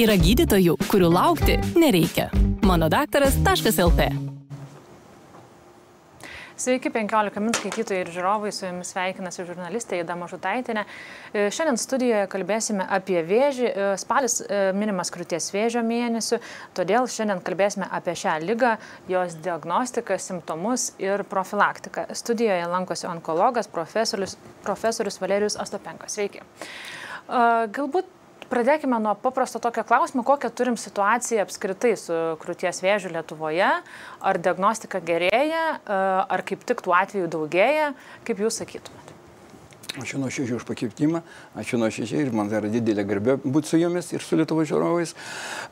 Yra gydytojų, kurių laukti nereikia. Manodaktaras.lt. Sveiki, 15 min skaitytojai ir žiūrovai, su jumis sveikinasi žurnalistė Ida Mažutaitinė. Šiandien studijoje kalbėsime apie vėžį. Spalis minimas krūties vėžio mėnesiu, todėl šiandien kalbėsime apie šią ligą, jos diagnostiką, simptomus ir profilaktiką. Studijoje lankosi onkologas, profesorius Valerijus Ostapenko. Sveiki. Galbūt pradėkime nuo paprasto tokio klausimo, kokią turim situaciją apskritai su krūties vėžiu Lietuvoje. Ar diagnostika gerėja, ar kaip tik tų atvejų daugėja, kaip jūs sakytumėte? Ačiū nuoširdžiai už pakvietimą, ačiū nuoširdžiai ir man yra didelė garbė būti su jumis ir su Lietuvos žiūrovais.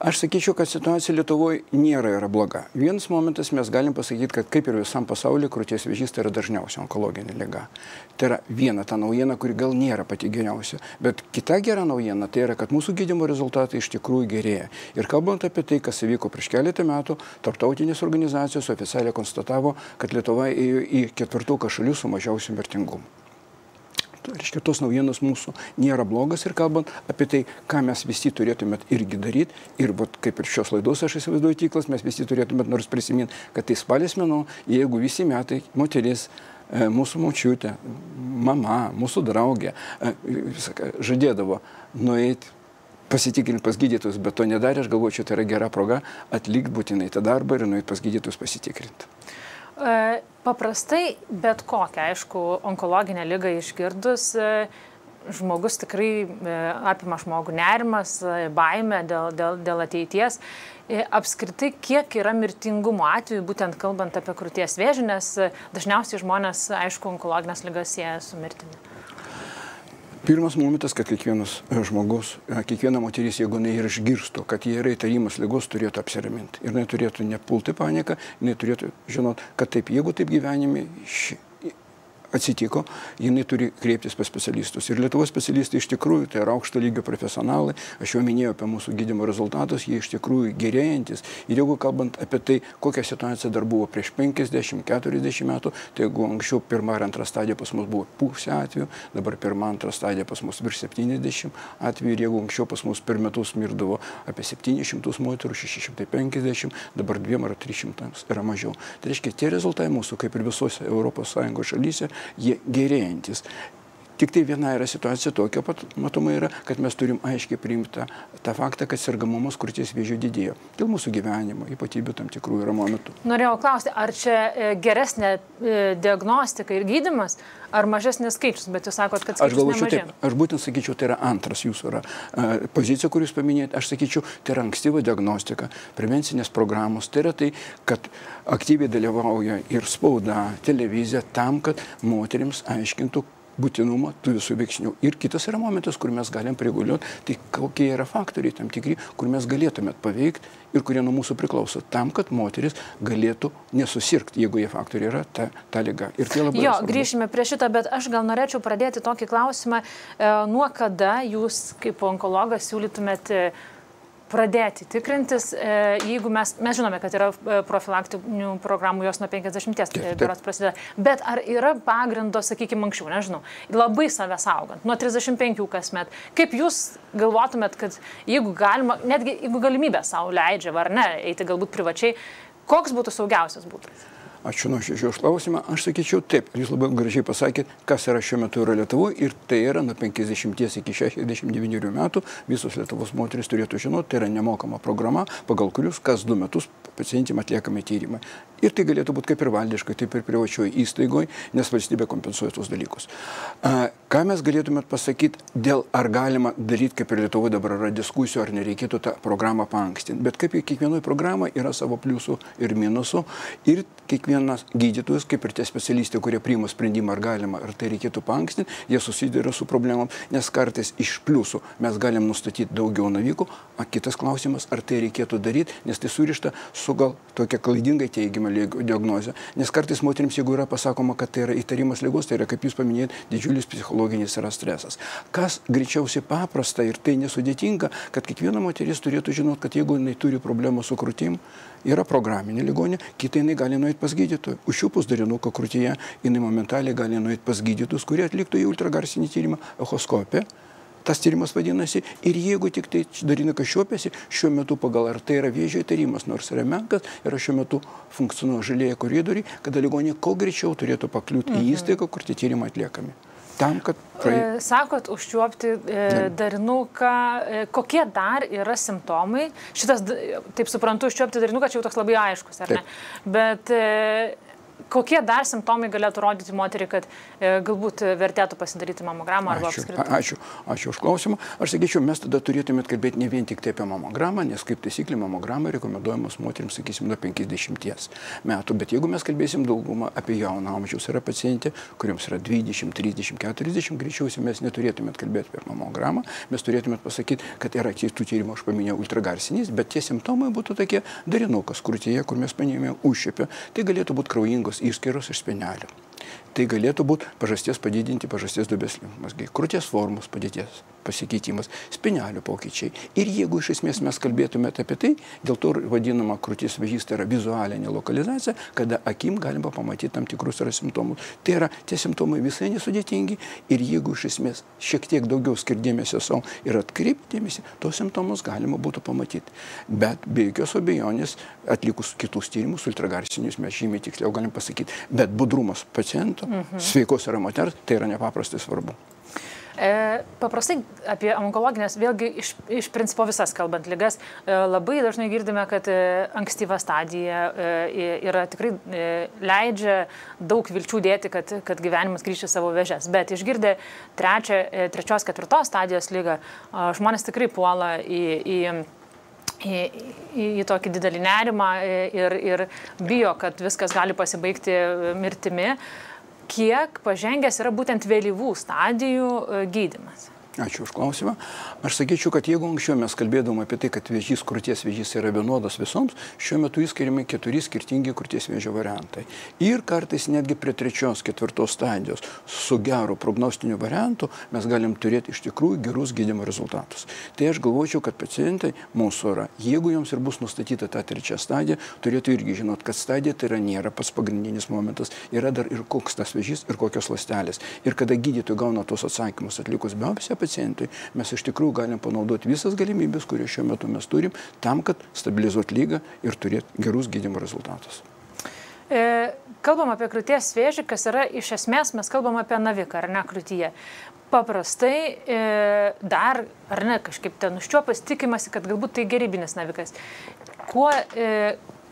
Aš sakyčiau, kad situacija Lietuvoje nėra bloga. Vienas momentas mes galim pasakyti, kad kaip ir visam pasaulyje, krūties vėžys tai yra dažniausia onkologinė liga. Tai yra viena ta naujiena, kuri gal nėra pati geriausia. Bet kita gera naujiena tai yra, kad mūsų gydymo rezultatai iš tikrųjų gerėja. Ir kalbant apie tai, kas įvyko prieš keletą metų, tarptautinės organizacijos oficialiai konstatavo, kad Lietuva ėjo į ketvirtuką šalių su mažiausiu mirtingumu. Reiškia, tos naujienos mūsų nėra blogas ir kalbant apie tai, ką mes visi turėtumėt irgi daryti, ir kaip ir šios laidos aš įsivaizduoju tiklas, mes visi turėtumėt nors prisiminti, kad tai spalis mėnuo, jeigu visi metai moteris, mūsų močiutė, mama, mūsų draugė žadėdavo nueiti pasitikrinti pas gydytojus, bet to nedarė, aš galvoju, čia tai yra gera proga atlikti būtinai tą darbą ir nueiti pas gydytojus pasitikrinti. Paprastai, bet kokią, aišku, onkologinę ligą išgirdus, žmogus tikrai apima žmogų nerimas, baimė dėl ateities. Apskritai, kiek yra mirtingumo atveju, būtent kalbant apie krūties vėžį, nes dažniausiai žmonės, aišku, onkologinės ligas sieja su mirtimi. Pirmas momentas, kad kiekvienas žmogus, kiekviena moteris, jeigu jinai ir išgirstų, kad jie yra įtarimas ligos, turėtų apsiraminti. Ir jinai turėtų nepulti paniką, jinai turėtų žinot, kad taip, jeigu taip gyvenime atsitiko, jinai turi kreiptis pas specialistus. Ir Lietuvos specialistai iš tikrųjų tai yra aukšto lygio profesionalai. Aš jau minėjau apie mūsų gydymo rezultatus, jie iš tikrųjų gerėjantis. Ir jeigu kalbant apie tai, kokia situacija dar buvo prieš 50-40 metų, tai jeigu anksčiau pirma ir antra stadija pas mus buvo pusė atvejų, dabar pirma, antra stadija pas mus virš 70 atvejų, ir jeigu anksčiau pas mus per metus mirdavo apie 700 moterų, 650, dabar 200 ar 300 yra mažiau. Tai reiškia, tie rezultatai mūsų, kaip ir visose ES šalyse, jie gerėjantis. Tik tai viena yra situacija tokia pat, matoma yra, kad mes turim aiškiai priimti tą faktą, kad sergamumas krūties vėžio didėjo. Dėl mūsų gyvenimo, ypatybių tam tikrų yra momentų. Norėjau klausti, ar čia geresnė diagnostika ir gydymas, ar mažesnis skaičius, bet jūs sakot, kad skaičius nemažėja. Aš būtent sakyčiau, tai yra antras jūsų yra pozicija, kur jūs paminėjate. Aš sakyčiau, tai yra ankstyva diagnostika, prevencinės programos. Tai yra tai, kad aktyviai dalyvauja ir spauda, televizija tam, kad moterims aiškintų būtinumą tų visų veiksnių. Ir kitas yra momentas, kur mes galim reguliuoti, tai kokie yra faktoriai tam tikri, kur mes galėtumėt paveikti ir kurie nuo mūsų priklauso, tam, kad moteris galėtų nesusirgti, jeigu jie faktoriai yra ta liga. Ir tai labai svarbu. Grįšime prie šito, bet aš gal norėčiau pradėti tokį klausimą, nuo kada jūs kaip onkologas siūlytumėt pradėti tikrintis, jeigu mes žinome, kad yra profilaktinių programų, jos nuo 50 berods prasideda, bet ar yra pagrindo, sakykime, anksčiau, nežinau, labai save saugant, nuo 35 kasmet, kaip jūs galvotumėt, kad jeigu galima, netgi jeigu galimybė savo leidžia, ar ne, eiti galbūt privačiai, koks būtų saugiausias būdas? Ačiū nuoširdžiai už klausimą. Aš sakyčiau taip, jūs labai gražiai pasakėt, kas yra šiuo metu yra Lietuvoje, ir tai yra nuo 50 iki 69 metų visos Lietuvos moteris turėtų žinoti, tai yra nemokama programa, pagal kurius kas 2 metus pacientėm atliekami tyrimai. Ir tai galėtų būti kaip ir valdiškai, taip ir privačioje įstaigoje, nes valstybė kompensuoja tos dalykus. Ką mes galėtumėt pasakyti dėl ar galima daryti, kaip ir Lietuvoje dabar yra diskusijų, ar nereikėtų tą programą paankstinti. Bet kaip ir kiekvienoje programoje yra savo pliusų ir minusų, ir kiekvienas gydytojas, kaip ir tie specialistai, kurie priima sprendimą, ar galima, ar tai reikėtų paankstinti, jie susiduria su problemom, nes kartais iš pliusų mes galim nustatyti daugiau navikų, o kitas klausimas, ar tai reikėtų daryti, nes tai surišta su gal tokia klaidingai teigiama diagnozė. Nes kartais moterims, jeigu yra pasakoma, kad tai yra įtarimas ligos, tai yra, kaip jūs paminėjot, didžiulis psichologinis yra stresas. Kas greičiausiai paprasta ir tai nesudėtinga, kad kiekviena moteris turėtų žinoti, kad jeigu jinai turi problemų su krūtim, yra programinė ligonė, kita jinai gali nueiti pas gydytoją. Užčiupus darinuką krūtyje, jinai momentaliai gali nueiti pas gydytojus, kurie atliktų į ultragarsinį tyrimą, echoskopiją, tas tyrimas vadinasi, ir jeigu tik tai darinukas šiopiasi, šiuo metu pagal ar tai yra vėžio įtarimas, nors yra menkas, yra šiuo metu funkcionuoja žalieji koridoriai, kada ligonė kuo greičiau turėtų pakliūti į įstaigą, kur tie tyrimai atliekami. Tam, kad Sakot, užčiuopti darinuką, kokie dar yra simptomai? Šitas, taip suprantu, užčiuopti darinuką, čia jau toks labai aiškus, ar ne? Bet kokie dar simptomai galėtų rodyti moterį, kad galbūt vertėtų pasidaryti mamogramą arba apskritai? Ačiū už klausimą. Aš sakyčiau, mes tada turėtume kalbėti ne vien tik tai apie mamogramą, nes kaip taisyklė mamogramą rekomenduojamos moterims, sakysim, nuo 50 metų. Bet jeigu mes kalbėsim daugumą apie jauną amžiaus, yra pacientė, kuriems yra 20, 30, 40, greičiausiai mes neturėtume kalbėti apie mamogramą, mes turėtume pasakyti, kad yra tų tyrimų, aš paminėjau, ultragarsinis, bet tie simptomai būtų tokie darinukas krūtyje, kur mes paminėjome užšiepę. Tai galėtų būti kraujingos išskyros iš spenelio. Tai galėtų būti pažasties padidinti pažasties duobės limfmazgiai, krūties formos padėties pasikeitimas, spenelio pokyčiai. Ir jeigu iš esmės mes kalbėtume apie tai, dėl to vadinama krūties vėžys, tai yra vizualinė lokalizacija, kada akim galima pamatyti tam tikrus simptomus. Tai yra, tie simptomai visai nesudėtingi ir jeigu iš esmės šiek tiek daugiau skirdėmėsio savo ir atkreipdėmėsi, tos simptomus galima būtų pamatyti. Bet be jokios abejonės, atlikus kitus tyrimus, ultragarsinius, mes žymiai tiksliau galim pasakyti, bet budrumas paciento, sveikos yra moters, tai yra nepaprastai svarbu. Paprastai apie onkologinės, vėlgi iš principo visas kalbant ligas, labai dažnai girdime, kad ankstyva stadija yra tikrai leidžia daug vilčių dėti, kad gyvenimas grįžti savo vėžes. Bet išgirdę trečios, ketvirtos stadijos lygą, žmonės tikrai puola į tokį didelį nerimą ir bijo, kad viskas gali pasibaigti mirtimi. Kiek pažengęs yra būtent vėlyvų stadijų gydymas? Ačiū už klausimą. Aš sakyčiau, kad jeigu anksčiau mes kalbėdom apie tai, kad vėžys, krūties vėžys yra vienodas visoms, šiuo metu įskiriami 4 skirtingi krūties vėžio variantai. Ir kartais netgi prie 3, 4 stadijos su geru prognostiniu variantu mes galim turėti iš tikrųjų gerus gydymo rezultatus. Tai aš galvočiau, kad pacientai mūsų yra, jeigu joms ir bus nustatyta ta 3 stadija, turėtų irgi žinot, kad stadija tai yra nėra pats pagrindinis momentas, yra dar ir koks tas vėžys ir kokios ląstelės. Ir kada gydytojai gauna tos atsakymus atlikus biopsiją pacientui, mes iš tikrųjų galim panaudoti visas galimybės, kurie šiuo metu mes turim, tam, kad stabilizuoti lygą ir turėti gerus gydymo rezultatus. Kalbam apie krūties vėžį, kas yra iš esmės, mes kalbam apie naviką, ar ne, krūtyje. Paprastai dar, ar ne, kažkaip ten užčiuopas tikimasi, kad galbūt tai gerybinis navikas.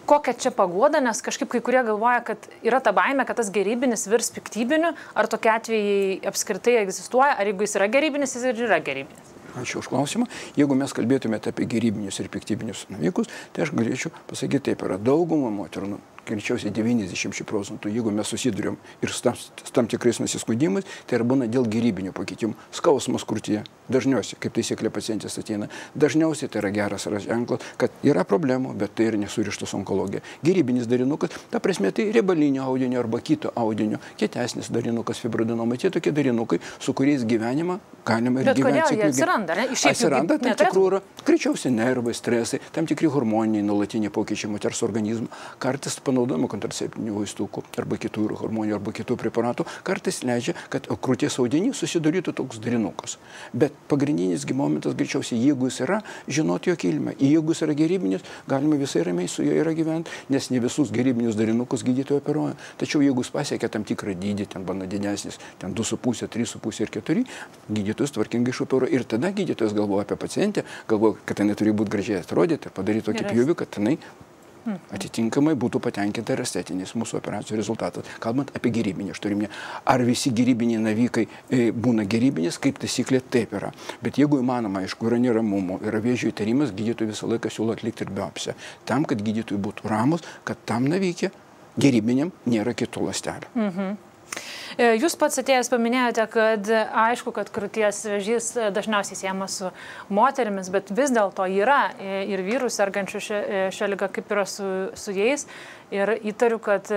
Kokia čia paguoda, nes kažkaip kai kurie galvoja, kad yra ta baimė, kad tas gerybinis virs piktybiniu, ar tokie atvejai apskritai egzistuoja, ar jeigu jis yra gerybinis, jis ir yra gerybinis. Ačiū už klausimą. Jeigu mes kalbėtumėte apie gerybinius ir piktybinius navikus, tai aš galėčiau pasakyti taip, yra dauguma moterų, greičiausiai 90%, jeigu mes susiduriam ir su tam tikrais nusiskundimais, tai būna dėl gerybinių pakeitimų. Skausmas krūtyje, dažniausiai, kaip taisyklė pacientės ateina, dažniausiai tai yra geras ženklas, kad yra problemų, bet tai yra nesurištas onkologija. Gerybinis darinukas, ta prasme, tai riebalinio audinio arba kito audinio, kietesnis darinukas, fibroadenoma, tie tokie darinukai, su kuriais gyvenimą galima ir gyventi. Bet kodėl jie atsiranda? Atsiranda tam tikrų, greičiausiai nervai, stresai, tam tikri hormoniniai, nuolatiniai pokyčiai moters organizmo, kartais panaudojimo kontraceptinių vaistų arba kitų hormonų arba kitų preparatų, kartais leidžia, kad krūties audinys susidarytų toks darinukas. Bet pagrindinis momentas greičiausiai, jeigu jis yra, žinoti jo kilmę. Jeigu jis yra gerybinis, galima visai ramiai su juo yra gyventi, nes ne visus gerybinius darinukus gydytojai operuoja. Tačiau jeigu jis pasiekia tam tikrą dydį, ten būna didesnis, ten 2,5, 3,5 ir 4, gydytojas tvarkingai išoperuoja. Ir tada gydytojas galvoja apie pacientę, galvoja, kad jinai turi būti gražiai atrodyti ir padaryti tokį pjūvį, kad jinai atitinkamai būtų patenkinta ir estetinis mūsų operacijų rezultatas. Kalbant apie gerybinį, aš turim, ar visi gerybiniai navikai būna gerybinis, kaip taisyklė taip yra. Bet jeigu įmanoma, aišku, yra neramumo, yra vėžio įtarimas, gydytojai visą laiką siūlo atlikti ir biopsiją. Tam, kad gydytojai būtų ramus, kad tam navykė gerybiniam nėra kitų ląstelių. Jūs pats atėjęs paminėjote, kad aišku, kad krūties vėžys dažniausiai siejamas su moterimis, bet vis dėlto yra ir vyrų sergančių šią ligą, kaip yra su jais, ir įtariu, kad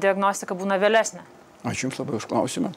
diagnostika būna vėlesnė. Ačiū Jums labai už klausimą.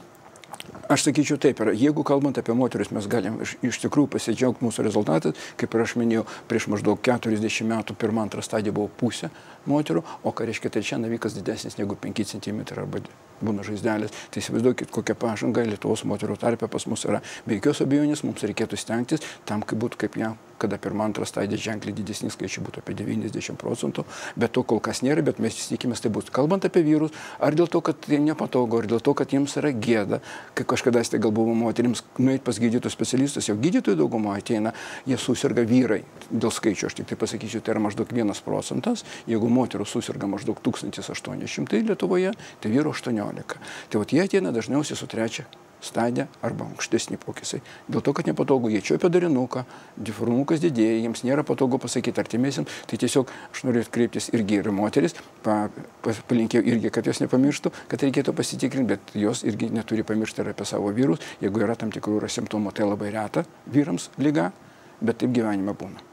Aš sakyčiau taip, jeigu kalbant apie moteris, mes galim iš tikrųjų pasidžiaugti mūsų rezultatais, kaip ir aš minėjau, prieš maždaug 40 metų pirmą, antrą stadiją buvo pusė moterų, o ką reiškia, tai čia navikas didesnis negu 5 cm arba būna žaizdelės. Tai įsivaizduokit, kokia pažanga Lietuvos moterų tarpe pas mus yra. Be jokios abejonės mums reikėtų stengtis tam, kaip būtų kaip ją, kada pirmą, antrą stadiją ženkliai didesni skaičiai būtų apie 90%, bet to kol kas nėra, bet mes tikimės tai bus. Kalbant apie vyrus, ar dėl to, kad tai nepatogu, ar dėl to, kad jiems yra gėda, kai kažkada tai gal buvo moterims nueiti pas gydytojų specialistus, jau gydytojų daugumą ateina, jie susirga vyrai dėl skaičių, aš tik tai pasakysiu, tai yra maždaug 1%, jeigu moterų susirga maždaug 1800 Lietuvoje, tai vyrų 18. Tai vat jie ateina dažniausiai su 3 stadija arba aukštesni pokysiai. Dėl to, kad nepatogu, jie čiuopia darinuką, diformukas didėja, jiems nėra patogu pasakyti artimiesiams, tai tiesiog aš noriu kreiptis irgi ir moteris, palinkėjau irgi, kad jos nepamirštų, kad reikėtų pasitikrinti, bet jos irgi neturi pamiršti ir apie savo vyrus, jeigu yra tam tikrų simptomų, tai labai reta vyrams liga, bet taip gyvenime būna.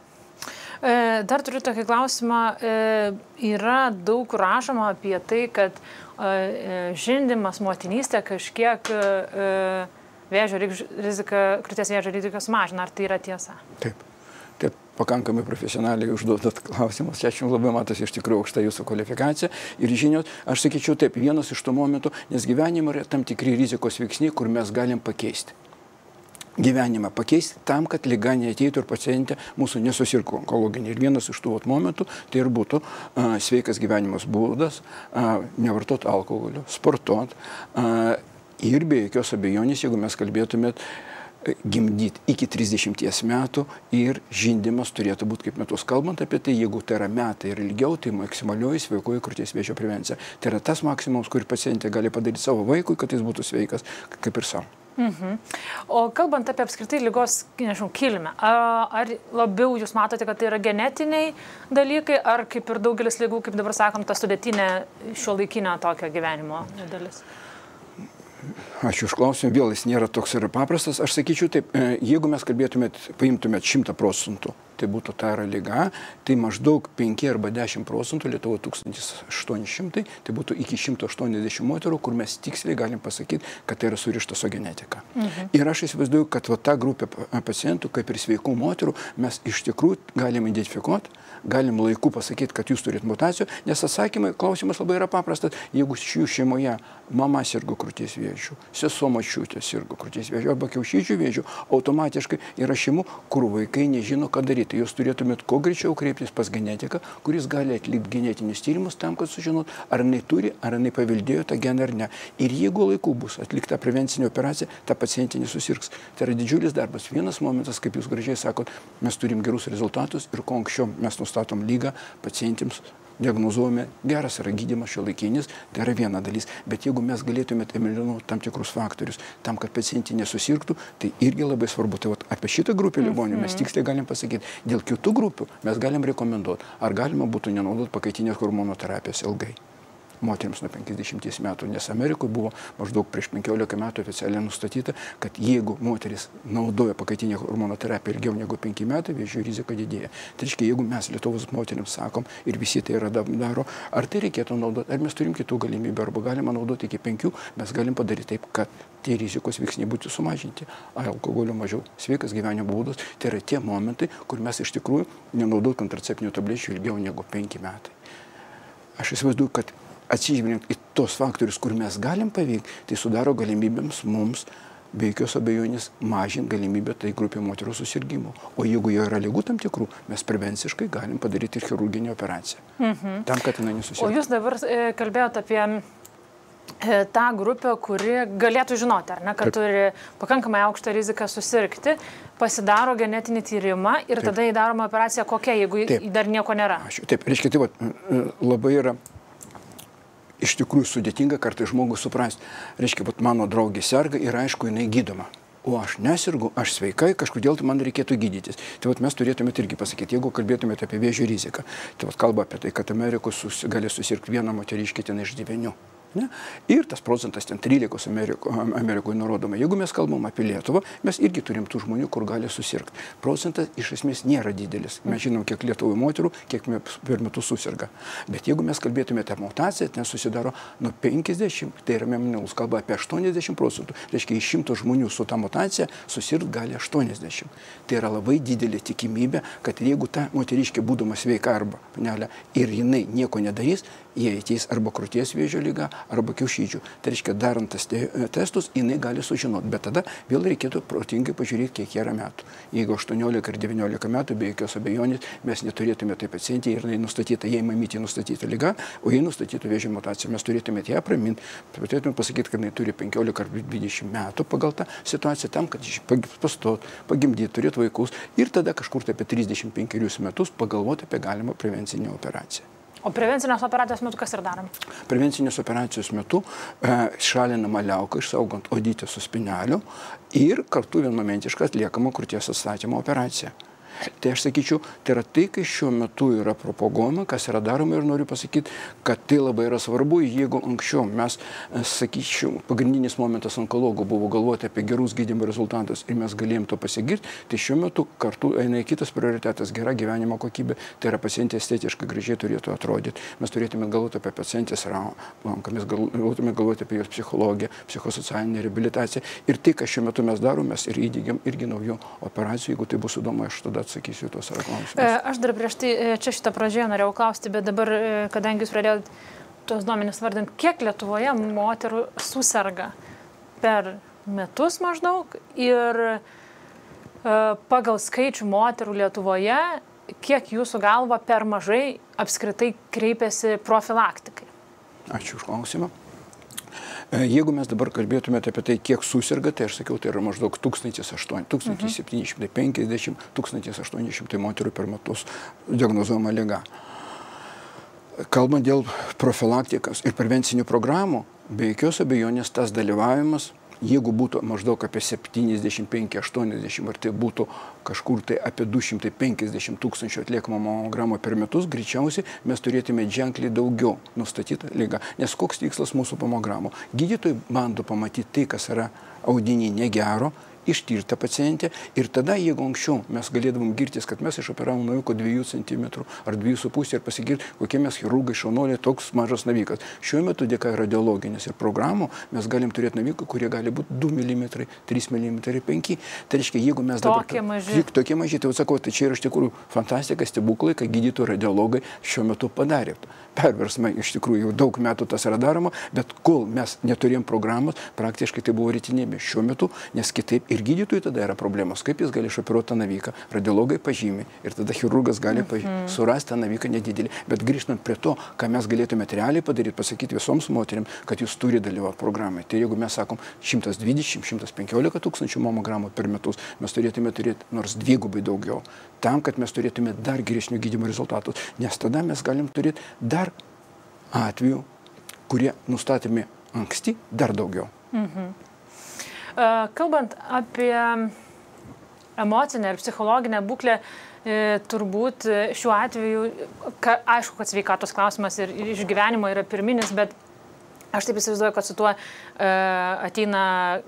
Dar turiu tokį klausimą, yra daug rašoma apie tai, kad žindymas, motinystė kažkiek krūties vėžio riziką sumažina. Ar tai yra tiesa? Taip. Taip, pakankamai profesionaliai užduodat klausimus. Čia jums labai matosi iš tikrųjų aukšta jūsų kvalifikacija ir žinios. Aš sakyčiau taip, vienas iš tų momentų, nes gyvenime yra tam tikri rizikos veiksniai, kur mes galim pakeisti. Gyvenimą pakeisti tam, kad liga neateitų ir pacientė mūsų nesusirgtų onkologinį. Ir vienas iš tų momentų tai ir būtų sveikas gyvenimas būdas, nevartot alkoholio, sportuot ir be jokios abejonės, jeigu mes kalbėtumėt, gimdyti iki 30 metų ir žindymas turėtų būti kaip metus. Kalbant apie tai, jeigu tai yra metai ir ilgiau, tai maksimalioji sveikoji krūties vėžio prevencija. Tai yra tas maksimums, kurį pacientė gali padaryti savo vaikui, kad jis būtų sveikas kaip ir savo. O kalbant apie apskritai ligos, nežinau, kilmę, ar labiau jūs matote, kad tai yra genetiniai dalykai, ar kaip ir daugelis ligų, kaip dabar sakom, ta sudėtinė šiuolaikinė tokio gyvenimo dalis? Ačiū už klausimą, vėl jis nėra toks ir paprastas. Aš sakyčiau taip, jeigu mes paimtumėt 100%, tai būtų ta yra liga, tai maždaug 5 arba 10% Lietuvoje 1800, tai būtų iki 180 moterų, kur mes tiksliai galim pasakyti, kad tai yra surišta su genetika. Ir aš įsivaizduoju, kad ta grupė pacientų, kaip ir sveikų moterų, mes iš tikrųjų galim identifikuoti, galim laiku pasakyti, kad jūs turit mutacijų, nes atsakymai, klausimas labai yra paprastas. Jeigu šių šeimoje mama sirgo krūties vėžiu, sesuo močiutė sirgo krūties vėžiu arba kiaušidžių vėžiu, automatiškai yra šeimų, kur vaikai nežino, ką daryti. Jūs turėtumėt kuo greičiau kreiptis pas genetiką, kuris gali atlikti genetinius tyrimus tam, kad sužinot, ar jinai turi, ar jinai paveldėjo tą geną ar ne. Ir jeigu laiku bus atlikta prevencinė operacija, ta pacientė nesusirgs. Tai yra didžiulis darbas. Vienas momentas, kaip jūs gražiai sakot, mes turim gerus rezultatus ir kuo anksčiau mes nustatom lygą pacientėms, diagnozuojame, geras yra gydymas šiuolaikinis, tai yra viena dalis. Bet jeigu mes galėtumėt eliminuoti tam tikrus faktorius, tam, kad pacientė nesusirgtų, tai irgi labai svarbu. Tai apie šitą grupę ligonių mes tiksliai galim pasakyti. Dėl kitų grupių mes galim rekomenduoti, ar galima būtų nenaudoti pakaitinės hormonoterapijos ilgai moteriams nuo 50 metų, nes Amerikoje buvo maždaug prieš 15 metų oficialiai nustatyta, kad jeigu moteris naudoja pakaitinę hormonoterapiją ilgiau negu 5 metai, vėžio rizika didėja. Tai reiškia, jeigu mes Lietuvos moteriams sakom ir visi tai yra daro, ar tai reikėtų naudoti, ar mes turim kitų galimybių, arba galima naudoti iki 5, mes galim padaryti taip, kad tie rizikos veiksniai būtų sumažinti. Alkoholio mažiau, sveikas gyvenimo būdas, tai yra tie momentai, kur mes iš tikrųjų nenaudot kontraceptinių tablečių ilgiau negu 5 metai. Aš įsivaizduoju, kad atsižvelgiant į tos faktorius, kur mes galim paveikti, tai sudaro galimybėms mums be jokios abejonės mažinti galimybę tai grupė moterų susirgymų. O jeigu jo yra ligų tam tikrų, mes prevenciškai galim padaryti ir chirurginę operaciją. Tam, kad jinai nesusirgtų. O jūs dabar kalbėjote apie tą grupę, kuri galėtų žinoti, ar ne, kad turi pakankamai aukštą riziką susirgti, pasidaro genetinį tyrimą ir tada įdaroma operacija kokia, jeigu dar nieko nėra. Taip, reiškia, tai labai yra iš tikrųjų sudėtinga kartais žmogus suprasti. Reiškia, mano draugė serga ir aišku, jinai gydoma. O aš nesirgu, aš sveikai, kažkodėl tai man reikėtų gydytis. Tai mes turėtumėt irgi pasakyti, jeigu kalbėtumėt apie vėžio riziką. Tai kalba apie tai, kad Amerikoje gali susirgti vieną moteriškę ten iš 9. Ne? Ir tas procentas ten 13 Amerikoje nurodoma. Jeigu mes kalbam apie Lietuvą, mes irgi turim tų žmonių, kur gali susirgti. Procentas iš esmės nėra didelis. Mes žinom, kiek Lietuvų moterų, kiek per metus susirga. Bet jeigu mes kalbėtume apie mutaciją, ten susidaro nuo 50, tai yra minimalus kalba apie 80%. Reiškia, iš 100 žmonių su ta mutacija susirgti gali 80. Tai yra labai didelė tikimybė, kad jeigu ta moteriškė būdama sveika arba panelė ir jinai nieko nedarys, jie ateis arba krūties vėžio liga, arba kiaušydžių. Tai reiškia, darant tas testus, jinai gali sužinoti. Bet tada vėl reikėtų protingai pažiūrėti, kiek yra metų. Jeigu 18 ar 19 metų, be jokios abejonės, mes neturėtume tai pacientį ir nustatyta, jei mamytė nustatyta liga, o jei nustatyta vėžio mutacija, mes turėtume ją praminti. Turėtume pasakyti, kad jinai turi 15 ar 20 metų pagal tą situaciją tam, kad pastot, pagimdyti, turėti vaikus ir tada kažkur tai apie 35 metus pagalvoti apie galimą prevencinę operaciją. O prevencinės operacijos metu kas ir darom? Prevencinės operacijos metu šalinama liauka, išsaugant odytę su spineliu ir kartu vienmomentiškai atliekama krūties atstatymo operacija. Tai aš sakyčiau, tai yra tai, kai šiuo metu yra propaguojama, kas yra daroma ir noriu pasakyti, kad tai labai yra svarbu, jeigu anksčiau mes, sakyčiau, pagrindinis momentas onkologų buvo galvoti apie gerus gydymo rezultatus ir mes galėjom to pasigirti, tai šiuo metu kartu eina kitas prioritetas, gera gyvenimo kokybė, tai yra pacientė estetiškai gražiai turėtų atrodyti. Mes turėtume galvoti apie pacientės ranką, mes galvotume galvoti apie jos psichologiją, psichosocialinę reabilitaciją ir tai, ką šiuo metu mes darome, mes ir įdėgiam irgi naujų operacijų, jeigu tai bus įdomu, aš tada atsakysiu tos klausimus. Aš dar prieš tai čia šitą pradžioje norėjau klausti, bet dabar, kadangi jūs pradėjote tuos duomenis vardinti, kiek Lietuvoje moterų susirga per metus maždaug ir pagal skaičių moterų Lietuvoje, kiek jūsų galva per mažai apskritai kreipiasi profilaktikai? Ačiū už klausimą. Jeigu mes dabar kalbėtume apie tai, kiek susirga, tai aš sakiau, tai yra maždaug 1750, 1800 moterų per metus diagnozuojama liga. Kalbant dėl profilaktikos ir prevencinių programų, be jokios abejonės tas dalyvavimas, jeigu būtų maždaug apie 75-80, ar tai būtų kažkur tai apie 250 tūkstančių atliekamo mamogramų per metus, greičiausiai mes turėtume ženkliai daugiau nustatytą ligą. Nes koks tikslas mūsų mamogramų? Gydytojai bando pamatyti tai, kas yra audiny negero, ištirta pacientė ir tada, jeigu anksčiau mes galėdavom girtis, kad mes išoperavom naviką 2 cm ar 2,5 ir pasigirti, kokie mes chirurgai šaunuoliai, toks mažas navikas. Šiuo metu dėka radiologinės ir programų mes galim turėti naviką, kurie gali būti 2 mm, 3 mm, 5. Tai reiškia, jeigu mes dabar... Tokie maži. Tai sakau, tai čia yra iš tikrųjų fantastika, stebuklai, kad gydytojai radiologai šiuo metu padarė. Perversmai iš tikrųjų jau daug metų tas yra daroma, bet kol mes neturėjom programos, praktiškai tai buvo rytinėbė šiuo metu, nes kitaip ir gydytojui tada yra problemos, kaip jis gali išoperuoti tą naviką. Radiologai pažymi ir tada chirurgas gali surasti tą naviką nedidelį. Bet grįžtant prie to, ką mes galėtume realiai padaryti, pasakyti visoms moteriam, kad jūs turi dalyvauti programai. Tai jeigu mes sakom 120-115 tūkstančių mamogramų per metus, mes turėtume turėti nors dvigubai daugiau, tam, kad mes turėtume dar geresnių gydymo rezultatus, nes tada mes galim turėti dar atvejų, kurie nustatomi anksti, dar daugiau. Kalbant apie emocinę ir psichologinę būklę, turbūt šiuo atveju, aišku, kad sveikatos klausimas ir išgyvenimo yra pirminis, bet aš taip įsivaizduoju, kad su tuo ateina,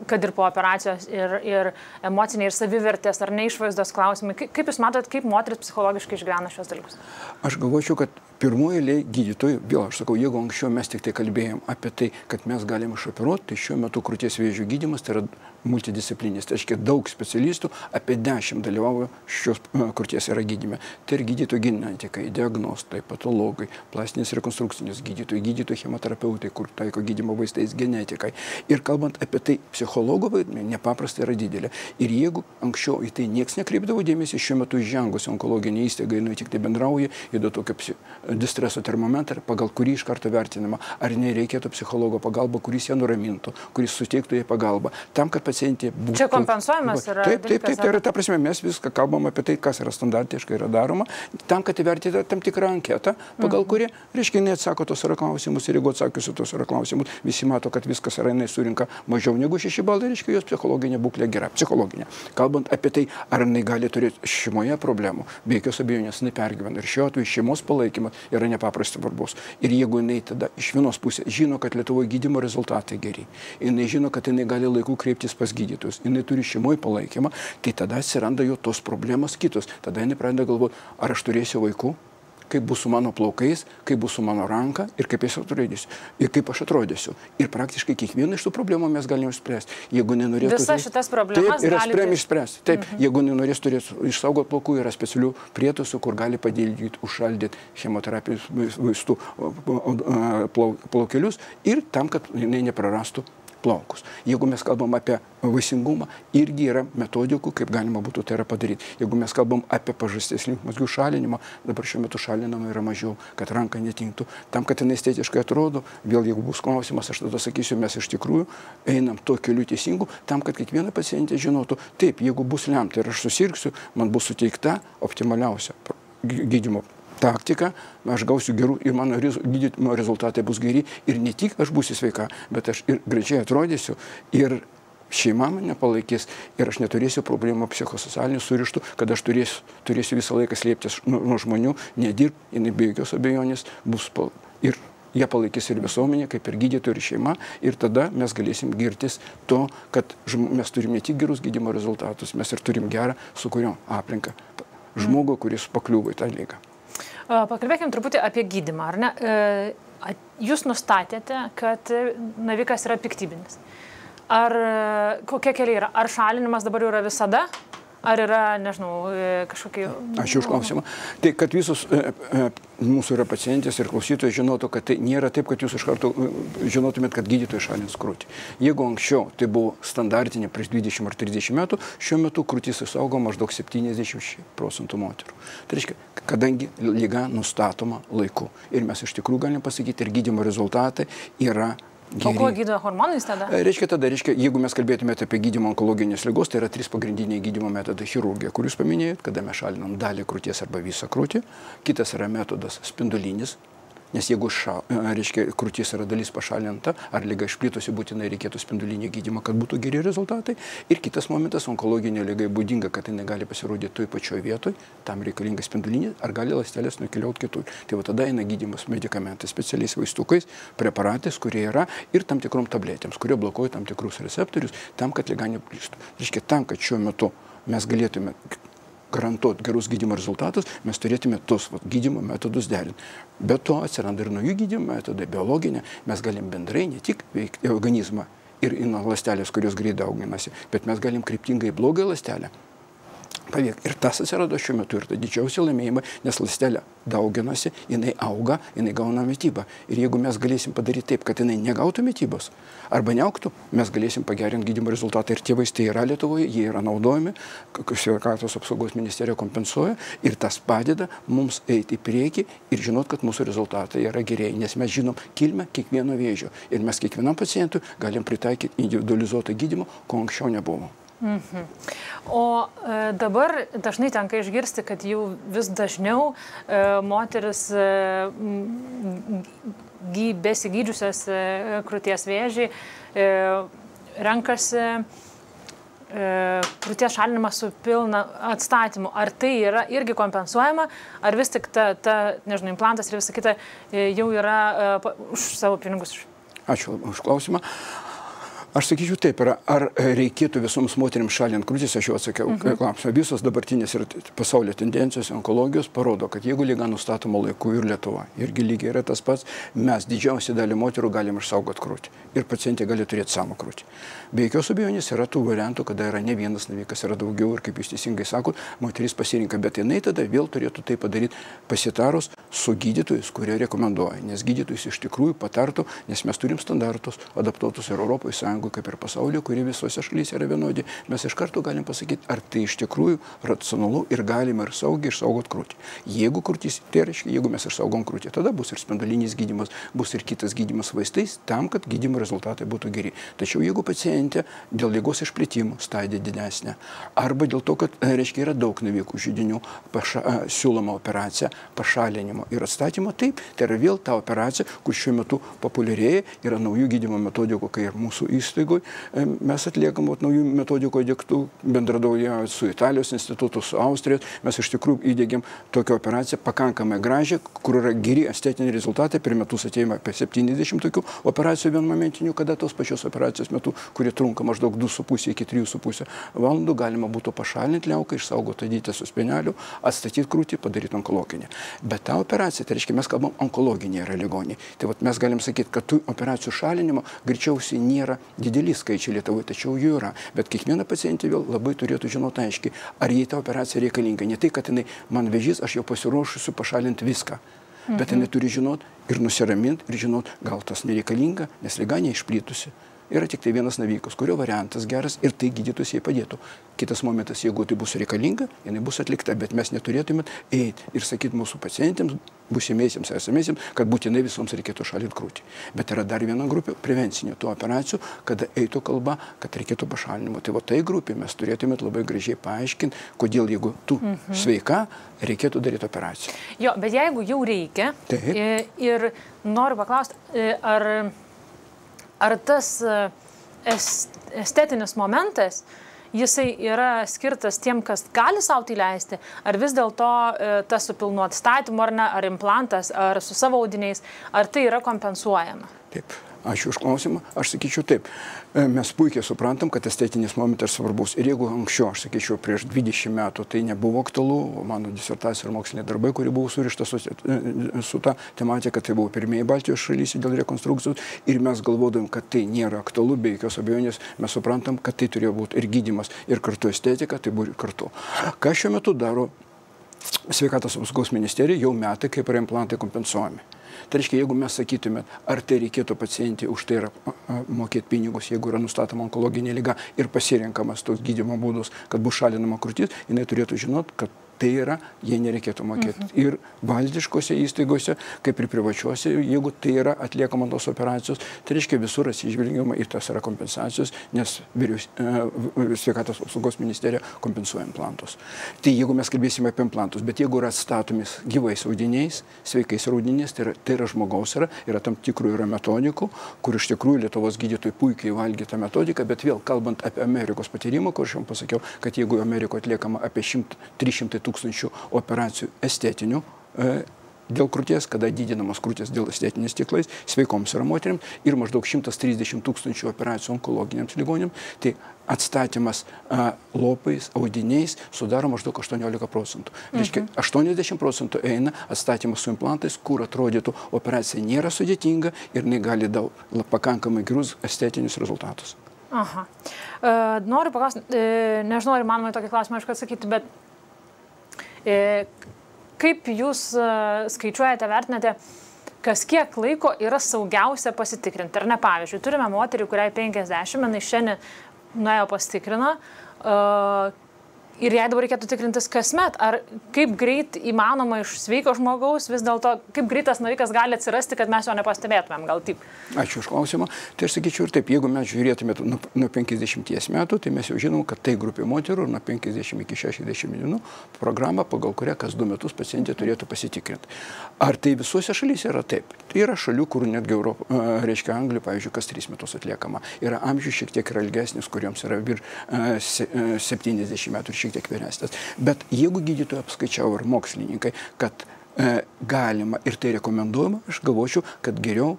kad ir po operacijos ir emociniai, ir savivertės, ar neišvaizdos klausimai. Kaip jūs matot, kaip moteris psichologiškai išgyvena šios dalykus? Aš galvočiau, kad pirmoji eilė gydytojų, vėl aš sakau, jeigu anksčiau mes tik tai kalbėjom apie tai, kad mes galim išoperuoti, tai šiuo metu krūties vėžio gydymas tai yra multidisciplinis. Tai reiškia, daug specialistų, apie 10 dalyvauja šios krūties yra gydyme. Tai ir gydytojai genetikai, diagnostai, patologai, plastinės rekonstrukcinės gydytojai chemoterapeutai, kur taiko gydymo vaistais, genetikai. Ir kalbant apie tai, psichologo vaidmenį nepaprastai yra didelė. Ir jeigu anksčiau į tai niekas nekreipdavo dėmesį, šiuo metu įžengusi onkologinė įstaiga, jinai tik tai bendrauja, įdo tokio distreso termometrą, pagal kurį iš karto vertinama, ar nereikėtų psichologo pagalba, kuris ją nuramintų, kuris suteiktų jai pagalbą. Tam, kad pacientė būtų... Čia kompensuojamas yra Taip, tai yra ta prasme, mes viską kalbam apie tai, kas yra standartiškai yra daroma, tam, kad įvertinti tam tikrą anketą, pagal kurį, reiškia, jinai atsako tos yra klausimus ir jeigu atsakiusi tos yra klausimus, visi mato, kad viskas yra, jinai surinka mažiau negu 6 balai, reiškia, jos psichologinė būklė gera, psichologinė. Kalbant apie tai, ar jinai gali turėti šeimoje problemų, be jokios abejonės jinai pergyvena ir šiuo atveju šeimos palaikymas yra nepaprastai svarbus. Ir jeigu jinai tada iš vienos pusės žino, kad Lietuvoje gydymo rezultatai geri, jinai žino, kad jinai gali laiku kreiptis pas gydytojus, jinai turi šeimoje palaikymą, tai tada atsiranda jo tos problemos kitos. Tada jinai pradeda galvoti, ar aš turėsiu vaikų, kaip bus su mano plaukais, kaip bus su mano ranka ir kaip aš atrodysiu. Ir kaip aš atrodysiu. Ir praktiškai kiekvieną iš tų problemų mes galime išspręsti. Jeigu nenorėtų... Visas šitas problemas galite išspręsti. Taip, jeigu nenorės turėti išsaugoti plaukų, yra specialių prietaisų, kur gali padėlyti, užšaldyti chemoterapijos vaistų plaukelius ir tam, kad jinai neprarastų plaukus. Jeigu mes kalbam apie vaisingumą, irgi yra metodikų, kaip galima būtų tai yra padaryti. Jeigu mes kalbam apie pažasties limfmazgių šalinimą, dabar šiuo metu šalinama yra mažiau, kad ranka netinktų. Tam, kad jinai estetiškai atrodo, vėl jeigu bus klausimas, aš tada sakysiu, mes iš tikrųjų einam tuo keliu teisingu, tam, kad kiekviena pacientė žinotų, taip, jeigu bus lemta ir aš susirgsiu, man bus suteikta optimaliausia gydymo taktika, aš gausiu gerų ir mano gydymo rezultatai bus geri ir ne tik aš būsiu sveika, bet aš ir gražiai atrodysiu ir šeima mane palaikys ir aš neturėsiu problemų psichosocialinių surištų, kad aš turėsiu visą laiką slėptis nuo žmonių, nedirb, jinai be jokios abejonės bus ir jie palaikys ir visuomenė, kaip ir gydytojai ir šeima ir tada mes galėsim girtis to, kad mes turim ne tik gerus gydymo rezultatus, mes ir turim gerą sukūrimo aplinką žmogų, kuris pakliuvo į tą ligą. Pakalbėkime truputį apie gydymą, ar ne? Jūs nustatėte, kad navikas yra piktybinis. Ar kokie keliai yra? Ar šalinimas dabar yra visada? Ar yra, nežinau, kažkokie... Ačiū už klausimą. Tai, kad visus mūsų yra pacientės ir klausytojai žinotų, kad tai nėra taip, kad jūs iš karto žinotumėt, kad gydytojai šalins krūtį. Jeigu anksčiau tai buvo standartinė prieš 20 ar 30 metų, šiuo metu krūtis išaugo maždaug 70% moterų. Tai reiškia, kadangi liga nustatoma laiku. Ir mes iš tikrųjų galim pasakyti, ir gydymo rezultatai yra geri. O kuo gydo hormonais tada? Reiškia, jeigu mes kalbėtume apie gydymą onkologinės ligos, tai yra 3 pagrindiniai gydymo metodai: chirurgija, kur jūs paminėjot, kada mes šalinam dalį krūties arba visą krūtį. Kitas yra metodas spindulinis, nes jeigu krūties yra dalis pašalinta, ar liga išplitusi, būtinai reikėtų spindulinio gydymo, kad būtų geri rezultatai. Ir kitas momentas, onkologinė liga būdinga, kad jinai gali pasirodyti toj pačioj vietoj, tam reikalinga spindulinė, ar gali ląstelės nukeliauti kitur. Tai va tada eina gydymas medikamentais, specialiais vaistukais, preparatais, kurie yra, ir tam tikrom tabletėms, kurie blokuoja tam tikrus receptorius, tam, kad liga neplistų. Reiškia, tam, kad šiuo metu mes galėtume garantuoti gerus gydymo rezultatus, mes turėtume tos gydymo metodus derinti. Be to atsiranda ir naujų gydymo metodai, biologinė. Mes galim bendrai ne tik veikti organizmą ir į ląstelės, kurios greit dauginasi, bet mes galim kryptingai blogą ląstelę paveikti. Ir tas atsirado šiuo metu ir tai didžiausia laimėjimai, nes ląstelė dauginasi, jinai auga, jinai gauna mitybą. Ir jeigu mes galėsim padaryti taip, kad jinai negautų mitybos arba neaugtų, mes galėsim pagerinti gydymo rezultatą. Ir tie vaistai yra Lietuvoje, jie yra naudojami, sveikatos apsaugos ministerija kompensuoja ir tas padeda mums eiti į priekį ir žinot, kad mūsų rezultatai yra gerieji, nes mes žinom kilmę kiekvieno vėžio ir mes kiekvienam pacientui galim pritaikyti individualizuotą gydymą, ko anksčiau nebuvo. O dabar dažnai tenka išgirsti, kad jau vis dažniau moteris besigydžiusios krūties vėžį renkasi krūties šalinimą su pilna atstatymu. Ar tai yra irgi kompensuojama, ar vis tik nežinau, implantas ir visa kita jau yra už savo pinigus? Ačiū už klausimą. Aš sakyčiau taip, ar reikėtų visoms moterims šalinti krūtis, aš jau atsakiau klausimą. Visos dabartinės ir pasaulio tendencijos onkologijos parodo, kad jeigu liga nustatoma laiku ir Lietuva, irgi lygiai yra tas pats, mes didžiausią dalį moterų galim išsaugoti krūtį ir pacientė gali turėti savo krūtį. Be jokios abejonės yra tų variantų, kada yra ne vienas navikas, yra daugiau ir kaip jūs teisingai sakot, moteris pasirinka, bet jinai tada vėl turėtų tai padaryti pasitarus su gydytojais, kurie rekomenduoja, nes gydytojais iš tikrųjų patartų, nes mes turim standartus adaptuotus ir Europos Sąjungoje kaip ir pasaulyje, kuri visose šalyse yra vienodi, mes iš karto galim pasakyti, ar tai iš tikrųjų racionalu ir galima ir saugiai išsaugot krūtį. Jeigu krūtis, tai reiškia, jeigu mes išsaugom krūtį, tada bus ir spindulinis gydymas, bus ir kitas gydymas vaistais, tam, kad gydymo rezultatai būtų geri. Tačiau jeigu pacientė dėl ligos išplėtimo stadija didesnė, arba dėl to, kad, reiškia, yra daug navikų židinių, siūloma operacija pašalinimo ir atstatymo, taip, tai yra vėl ta operacija, kur šiuo metu populiarėja, yra naujų gydymo metodikų, kai ir mūsų įstaigoje mes atliekam naujų metodikų įdėktų, bendradaujant su Italijos institutu, su Austrijos, mes iš tikrųjų įdėgiam tokią operaciją pakankamai gražią, kur yra geri estetiniai rezultatai, per metus ateina apie 70 tokių operacijų vienmomentinių, kada tos pačios operacijos metu, kurie trunka maždaug 2,5 iki 3,5 valandų, galima būtų pašalinti liauką, išsaugoti adytę su speneliu, atstatyti krūtį, padaryti onkologinę. Bet ta operacija, tai reiškia, mes kalbam onkologiniai yra ligoniai. Tai vat mes galim sakyti, kad tų operacijų šalinimo greičiausiai nėra dideli skaičiai Lietuvoje, tačiau jų yra. Bet kiekviena pacientė vėl labai turėtų žinoti aiškiai, ar jai ta operacija reikalinga. Ne tai, kad jinai man vėžys, aš jau pasiruošusiu pašalinti viską. Bet jinai turi žinoti ir nusiraminti ir žinoti, gal tas nereikalinga, nes liga neišplitusi. Yra tik tai vienas navikas, kurio variantas geras ir tai gydytus jai padėtų. Kitas momentas, jeigu tai bus reikalinga, jinai bus atlikta, bet mes neturėtume eiti ir sakyti mūsų pacientėms, būsimiesiems, esamiesiems, kad būtinai visoms reikėtų šalinti krūtį. Bet yra dar viena grupė prevencinė tų operacijų, kada eitų kalba, kad reikėtų pašalinimo. Tai va tai grupė mes turėtume labai gražiai paaiškinti, kodėl jeigu tu sveika, reikėtų daryti operaciją. Jo, bet jeigu jau reikia, ir noriu paklausti, ar tas estetinis momentas, jisai yra skirtas tiem, kas gali sau tai leisti, ar vis dėlto tas su pilnu atstatymu, ar implantas, ar su savo audiniais, ar tai yra kompensuojama? Taip. Ačiū už klausimą. Aš sakyčiau taip. Mes puikiai suprantam, kad estetinis momentas svarbus. Ir jeigu anksčiau, aš sakyčiau, prieš 20 metų tai nebuvo aktualu, mano disertacija ir moksliniai darbai, kurie buvo surišta su ta tematika, tai buvo pirmieji Baltijos šalyse dėl rekonstrukcijos, ir mes galvodavim, kad tai nėra aktualu, be jokios abejonės, mes suprantam, kad tai turėjo būti ir gydymas, ir kartu estetika, tai buvo ir kartu. Ką šiuo metu daro Sveikatos apsaugos ministerija, jau metai, kaip yra implantai kompensuojami. Tai reiškia, jeigu mes sakytume, ar tai reikėtų pacientį už tai mokėti pinigus, jeigu yra nustatoma onkologinė liga ir pasirenkamas toks gydymo būdus, kad bus šalinama krūtis, jinai turėtų žinoti, kad tai yra, jie nereikėtų mokėti. Ir valdiškose įstaigose, kaip ir privačiuose, jeigu tai yra atliekama tos operacijos, tai reiškia visur atsižvelgiama į tas yra kompensacijos, nes Sveikatos apsaugos ministerija kompensuoja implantus. Tai jeigu mes kalbėsime apie implantus, bet jeigu yra atstatomis gyvais audiniais, sveikais audiniais, tai yra žmogaus yra tam tikrų yra metodikų, kur iš tikrųjų Lietuvos gydytojai puikiai valgė tą metodiką, bet vėl kalbant apie Amerikos patyrimą, kur aš jums pasakiau, kad jeigu Amerikoje atliekama apie 300 tūkstančių operacijų estetinių dėl krūties, kada didinamas krūties dėl estetinės stiklais, sveikoms yra moteriams, ir maždaug 130 tūkstančių operacijų onkologiniams ligonėms, tai atstatymas lopais, audiniais sudaro maždaug 18%. Reiškia, 80% eina atstatymas su implantais, kur atrodytų operacija nėra sudėtinga ir jinai gali daug pakankamai gerus estetinius rezultatus. Aha. Noriu paklausti, nežinau, ar manoma tokį klausimą aišku atsakyti, bet kaip jūs skaičiuojate, vertinate, kas kiek laiko yra saugiausia pasitikrinti? Ar ne, pavyzdžiui, turime moterį, kuriai 50, jinai šiandien nuėjo pasitikrino, ir jei dabar reikėtų tikrintis kasmet, ar kaip greit įmanoma iš sveiko žmogaus, vis dėlto, kaip greitas navikas gali atsirasti, kad mes jo nepastebėtumėm, gal taip? Ačiū už klausimą. Tai aš sakyčiau ir taip, jeigu mes žiūrėtume nuo 50 metų, tai mes jau žinom, kad tai grupė moterų nuo 50 iki 60 dienų programa, pagal kurią kas 2 metus pacientė turėtų pasitikrinti. Ar tai visuose šalyse yra taip? Tai yra šalių, kur netgi reiškia Anglija, pavyzdžiui, kas 3 metus atliekama. Yra amžius šiek tiek yra ilgesnis, kuriems yra vir 70 metų ir šiek tiek vyresnės. Bet jeigu gydytojai apskaičiavo ir mokslininkai, kad galima ir tai rekomenduojama, aš galvočiau, kad geriau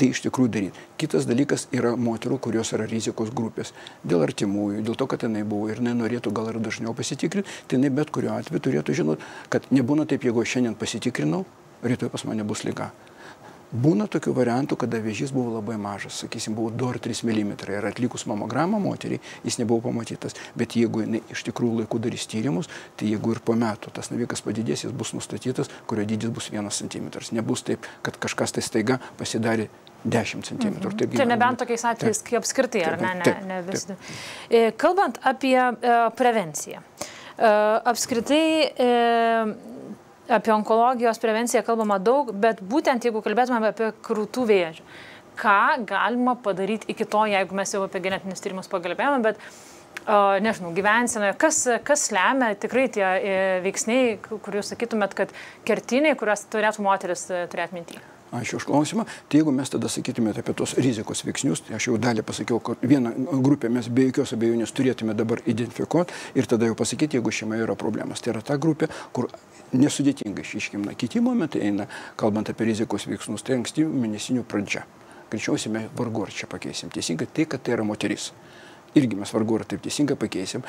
tai iš tikrųjų daryti. Kitas dalykas yra moterų, kurios yra rizikos grupės. Dėl artimųjų, dėl to, kad jinai buvo ir jinai norėtų gal ir dažniau pasitikrinti, tai jinai bet kuriuo atveju turėtų žinoti, kad nebūna taip, jeigu šiandien pasitikrinau, rytoj pas mane bus liga. Būna tokių variantų, kada vėžys buvo labai mažas, sakysim, buvo 2 ar 3 mm ir atlikus mamogramą moteriai, jis nebuvo pamatytas. Bet jeigu jinai iš tikrųjų laiku darys tyrimus, tai jeigu ir po metų tas navikas padidės, jis bus nustatytas, kurio dydis bus 1 cm. Nebus taip, kad kažkas tai staiga pasidarė 10 cm. Čia nebent tokiais atvejais, kai apskritai, ar ne visi. Kalbant apie prevenciją. Apskritai apie onkologijos prevenciją kalbama daug, bet būtent jeigu kalbėtume apie krūtų vėžį, ką galima padaryti iki to, jeigu mes jau apie genetinius tyrimus pagalbėjome, bet nežinau, gyvensenoje, kas lemia tikrai tie veiksniai, kur jūs sakytumėt, kad kertiniai, kuriuos turėtų moteris turėti mintyje? Ačiū už klausimą. Tai jeigu mes tada sakytumėte apie tos rizikos veiksnius, tai aš jau dalį pasakiau, kad vieną grupę mes be jokios abejonės turėtume dabar identifikuoti ir tada jau pasakyti, jeigu šeimoje yra problemas. Tai yra ta grupė, kur nesudėtingai išryškina. Kiti momentai eina, kalbant apie rizikos veiksnius, tai ankstyvų mėnesinių pradžia. Greičiausiai mes vargu ar čia pakeisim. Teisingai tai, kad tai yra moteris. Irgi mes vargu ar taip teisingai pakeisim.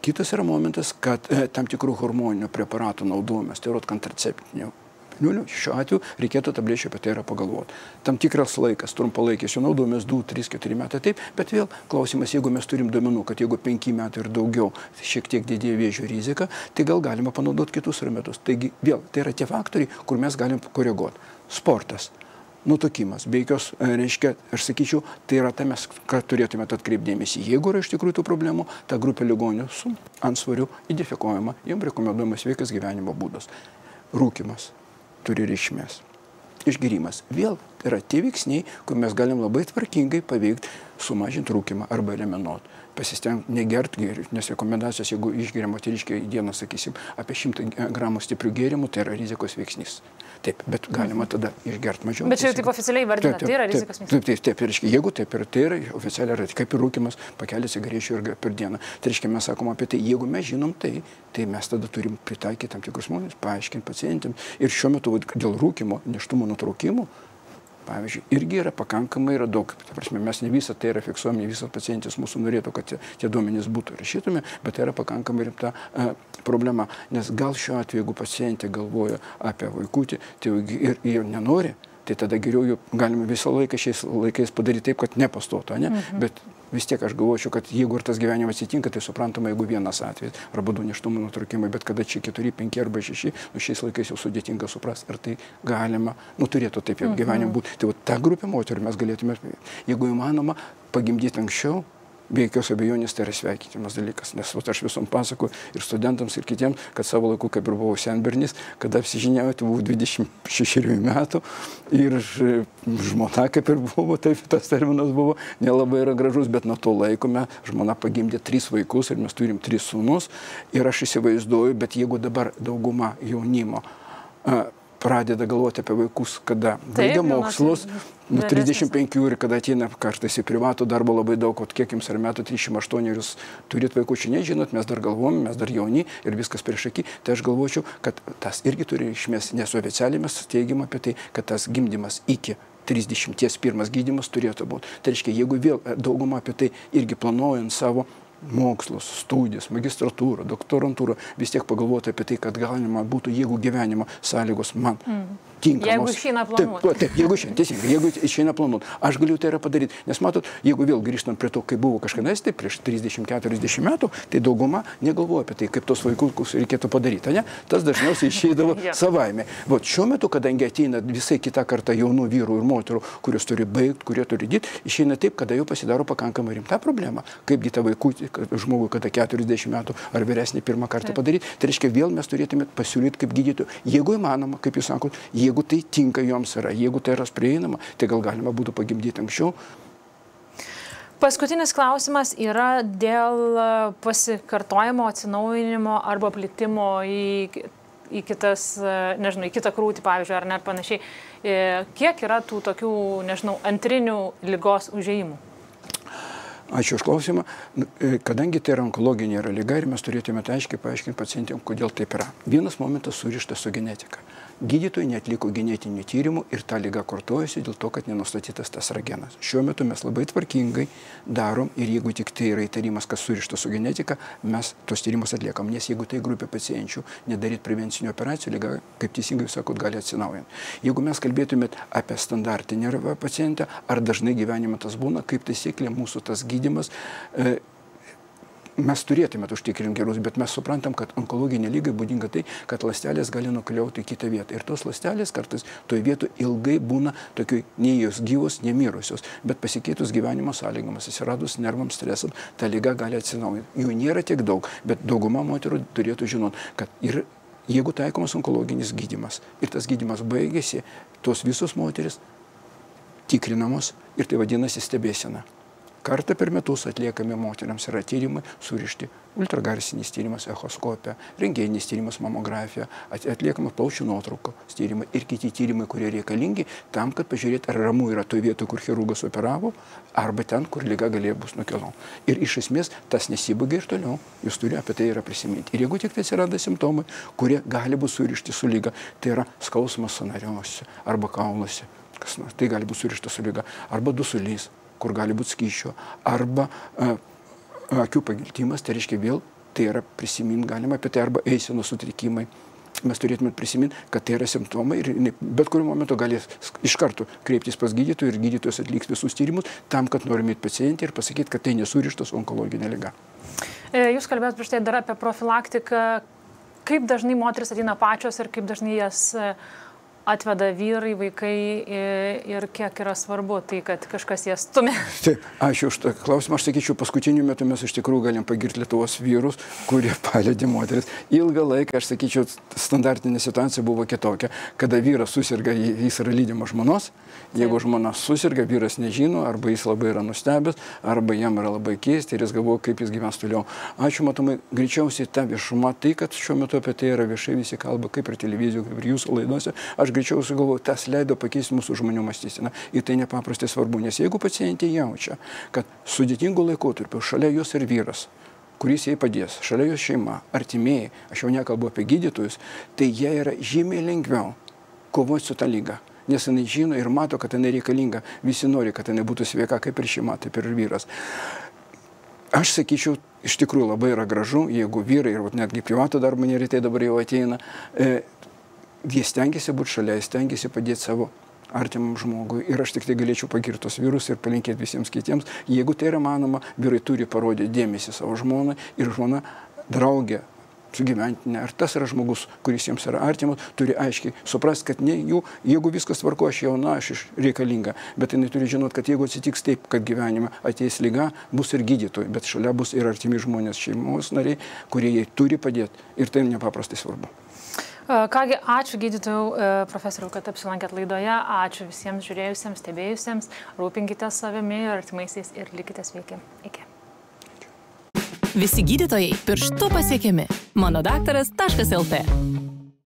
Kitas yra momentas, kad tam tikrų hormoninių preparatų naudojimas, tai yra kontraceptinių. Šiuo atveju reikėtų tablečių apie tai yra pagalvoti. Tam tikras laikas, trumpalaikis, jau naudojamas 2, 3, 4 metai, taip, bet vėl klausimas, jeigu mes turim duomenų, kad jeigu 5 metų ir daugiau šiek tiek didėja vėžio rizika, tai gal galima panaudoti kitus remetus. Taigi vėl, tai yra tie faktoriai, kur mes galim koreguoti. Sportas, nutukimas, be jokios, reiškia, aš sakyčiau, tai yra tai mes, ką turėtume atkreipdėmėsi. Jeigu yra iš tikrųjų tų problemų, ta grupė ligonių su antsvariu identifikuojama, jiems rekomenduojamas sveikas gyvenimo būdas. Rūkymas turi reikšmės. Išgėrimas. Vėl yra tie veiksniai, kur mes galim labai tvarkingai paveikti, sumažinti rūkymą arba eliminuoti. Pasistengti negerti gėrių, nes rekomendacijos, jeigu išgeria moteriškė į dieną, sakysim, apie 100 gramų stiprių gėrimų, tai yra rizikos veiksnys. Taip, bet galima tada išgerti mažiau. Bet čia jau taip oficialiai vardina, tai yra rizikos veiksnys. Taip, reiškia, jeigu taip ir tai yra oficialiai, yra kaip ir rūkymas, pakelį cigarečių ir per dieną. Tai reiškia, mes sakom apie tai, jeigu mes žinom tai mes tada turim pritaikyti tam tikrus žmonės, paaiškinti pacientėms. Ir šiuo metu dėl rūkymo, nėštumo nutraukimų, pavyzdžiui, irgi yra pakankamai daug. Ta prasme, mes ne visą tai yra fiksuojami, ne visas pacientis mūsų norėtų, kad tie duomenys būtų rašytume, bet tai yra pakankamai rimta problema. Nes gal šiuo atveju, jeigu pacientė galvoja apie vaikutį, tai ir jo nenori, tai tada geriau galime visą laiką šiais laikais padaryti taip, kad nepastotų, ne? Bet vis tiek aš galvočiau, kad jeigu ir tas gyvenimas atsitinka, tai suprantama, jeigu vienas atvejis, arba 2 nėštumo nutraukimai, bet kada čia 4, 5 arba 6, šiais laikais jau sudėtinga suprasti, ar tai galima, turėtų taip jau gyvenim būti. Tai ta grupė moterų mes galėtume, jeigu įmanoma, pagimdyti anksčiau, be jokios abejonės tai yra sveikintinas dalykas, nes aš visom pasakoju ir studentams, ir kitiems, kad savo laiku, kaip ir buvau senbernis, kada apsižiniauju, tai buvau 26 metų ir žmona, kaip ir buvo, taip tas terminas buvo, nelabai yra gražus, bet nuo to laiko žmona pagimdė 3 vaikus ir mes turim 3 sūnus ir aš įsivaizduoju, bet jeigu dabar dauguma jaunimo pradeda galvoti apie vaikus, kada baigia mokslus, 35 ir kada ateina kartais į privatų darbą labai daug, kiek jums ar metų, 38 ir jūs turit vaikų, nežinot, mes dar galvojame, mes dar jauni ir viskas prieš akį, tai aš galvočiau, kad tas irgi turi reikšmės, nes oficialiai mes teigiam apie tai, kad tas gimdymas iki 31 gydymas turėtų būti. Tai reiškia, jeigu vėl dauguma apie tai irgi planuojant savo mokslus, studijas, magistratūrą, doktorantūrą, vis tiek pagalvoti apie tai, kad galima būtų, jeigu gyvenimo sąlygos man tinkamos. Jeigu išeina planuoti. Taip, jeigu išeina, teisingai, jeigu išeina planuoti. Aš galiu tai yra padaryti. Nes matot, jeigu vėl grįžtant prie to, kaip buvo kažkada, tai prieš 30-40 metų, tai dauguma negalvoja apie tai, kaip tos vaikus reikėtų padaryti. Ne? Tas dažniausiai išeidavo savaime. Vat šiuo metu, kadangi ateina visai kita karta jaunų vyrų ir moterų, kurios turi baigti, kurie turi dėti, išeina taip, kada jau pasidaro pakankamai rimta problema. Kaipgi tą vaikutį, žmogui, kada 40 metų ar vyresnį pirmą kartą padaryti, tai reiškia, vėl mes turėtume pasiūlyti kaip gydytojų. Jeigu įmanoma, kaip jūs sakot, jeigu tai tinka joms yra, jeigu tai yra prieinama, tai gal galima būtų pagimdyti anksčiau. Paskutinis klausimas yra dėl pasikartojimo, atsinaujinimo arba plitimo į kitas, nežinau, į kitą krūtį, pavyzdžiui, ar net panašiai. Kiek yra tų tokių, nežinau, antrinių ligos užėjimų? Ačiū už klausimą. Kadangi tai yra onkologinė liga ir mes turėtume aiškiai paaiškinti pacientėm, kodėl taip yra. Vienas momentas surištas su genetika. Gydytojai neatliko genetinių tyrimų ir ta liga kartojasi dėl to, kad nenustatytas tas genas. Šiuo metu mes labai tvarkingai darom ir jeigu tik tai yra įtarimas, kas surištas su genetika, mes tos tyrimus atliekam. Nes jeigu tai grupė pacienčių nedaryti prevencinių operacijų, liga, kaip teisingai jūs sakot, gali atsinaujinti. Jeigu mes kalbėtumėt apie standartinę pacientę, ar dažnai gyvenime tas būna, kaip taisyklė mūsų tas gydymas mes turėtume užtikrinti gerus, bet mes suprantam, kad onkologinė lygai būdinga tai, kad ląstelės gali nukeliauti į kitą vietą. Ir tos ląstelės kartais toje vietoje ilgai būna tokioj nei jos gyvos, nemirusios, bet pasikeitus gyvenimo sąlygomis, atsiradus nervams stresam, ta lyga gali atsinaujinti. Jų nėra tiek daug, bet dauguma moterų turėtų žinoti, kad ir jeigu taikomas onkologinis gydymas ir tas gydymas baigėsi, tos visos moteris tikrinamos ir tai vadinasi stebėsena. Kartą per metus atliekami moteriams yra tyrimai surišti, ultragarsinis tyrimas, echoskopija, rentgeninis tyrimas, mamografija, atliekama plaučių nuotraukos tyrimai ir kiti tyrimai, kurie reikalingi tam, kad pažiūrėti, ar ramu yra toje vietoje, kur chirurgas operavo, arba ten, kur liga galėjo bus nukelama. Ir iš esmės tas nesibaigia ir toliau, jūs turite apie tai yra prisiminti. Ir jeigu tik tai atsiranda simptomai, kurie gali būti surišti su lyga, tai yra skausmas sąnariuose arba kauluose, tai gali būti surišta su lyga, arba dusulys, kur gali būti skysčio, arba akių pagiltimas, tai reiškia vėl, tai yra prisiminti galima apie tai, arba eisenos sutrikimai. Mes turėtume prisiminti, kad tai yra simptomai ir bet kuriuo momentu gali iš karto kreiptis pas gydytojų ir gydytojas atliks visus tyrimus tam, kad norime įti pacientį ir pasakyti, kad tai nesurištas onkologinė liga. Jūs kalbėjot prieš tai dar apie profilaktiką. Kaip dažnai moteris ateina pačios ir kaip dažnai jas atveda vyrai, vaikai ir kiek yra svarbu tai, kad kažkas jas stumia? Taip, ačiū už tą klausimą. Aš sakyčiau, paskutiniu metu mes iš tikrųjų galim pagirti Lietuvos vyrus, kurie palydė moteris. Ilgą laiką, aš sakyčiau, standartinė situacija buvo kitokia, kada vyras susirga, jis yra lydimas žmonos. Jeigu žmona susirga, vyras nežino, arba jis labai yra nustebęs, arba jam yra labai keista ir jis galvoja, kaip jis gyvens toliau. Ačiū, matomai, greičiausiai ta viešuma, tai, kad šiuo metu apie tai yra viešai visi kalba, kaip ir televizijoje, kaip ir jūsų laidose. Aš greičiausiai galvoju, tas leido pakeisti mūsų žmonių mąstyseną. Ir tai nepaprastai svarbu, nes jeigu pacientė jaučia, kad sudėtingų laikotarpių šalia jos ir vyras, kuris jai padės, šalia jos šeima, artimieji, aš jau nekalbu apie gydytojus, tai jie yra žymiai lengviau kovoti su ta lyga. Nes jinai žino ir mato, kad jinai reikalinga. Visi nori, kad jinai būtų sveika, kaip ir šeima, taip ir vyras. Aš sakyčiau, iš tikrųjų labai yra gražu, jeigu vyrai, ir netgi privatų darbą neretai dabar jau ateina, jie stengiasi būti šalia, stengiasi padėti savo artimam žmogui. Ir aš tik tai galėčiau pagirti tos vyrus ir palinkėti visiems kitiems. Jeigu tai yra manoma, vyrai turi parodyti dėmesį savo žmonai ir žmona draugė sugyventinė. Ar tas yra žmogus, kuris jiems yra artimas, turi aiškiai suprasti, kad ne jų, jeigu viskas tvarko, aš jauna, aš reikalinga. Bet jinai turi žinoti, kad jeigu atsitiks taip, kad gyvenime ateis liga, bus ir gydytojai, bet šalia bus ir artimi žmonės, šeimos nariai, kurie jai turi padėti. Ir tai nepaprastai svarbu. Kągi, ačiū gydytojų profesoriau, kad apsilankėt laidoje. Ačiū visiems žiūrėjusiems, stebėjusiems. Rūpinkite savimi ir artimaisiais ir likite sveiki. Iki. Visi gydytojai pirštu pasiekiami. Monodaktaras.lt